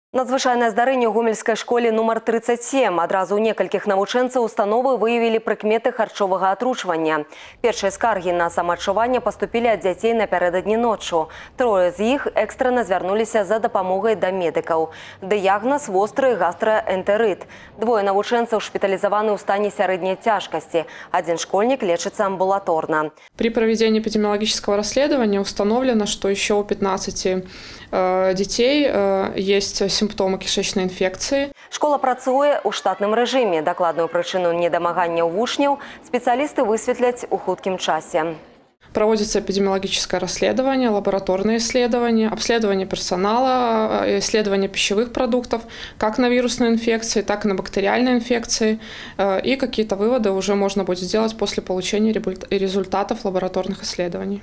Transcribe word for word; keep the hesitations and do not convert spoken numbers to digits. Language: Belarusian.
Надзвычайнае здарэнне ў гомельскай школе нумар тридцать семь. Адразу ў некалькіх навучэнцаў установы выявілі прыкметы харчовага атручвання. Першыя скаргі на самаадчуванне паступілі ад дзяцей напярэдадні ноччу. Трое з іх экстрана звярнуліся за дапамогай да медыкаў. Дыягназ востры гастраэнтэрыт. Двое навучэнцаў шпіталізаваны ў стане сярэдняй цяжкасці. Один школьник лечится амбулаторно. При проведении эпидемиологического расследования установлено, что еще у пятнадцати э, детей э, есть симптомы кишечной инфекции. Школа працуе ў штатным рэжыме. Дакладную прычыну недамагання ў вучняў спецыялісты высветляць у хуткім часе. Проводится эпидемиологическое расследование, лабораторные исследования, обследование персонала, исследование пищевых продуктов, как на вирусные инфекции, так и на бактериальные инфекции. И какие-то выводы уже можно будет сделать после получения результатов лабораторных исследований.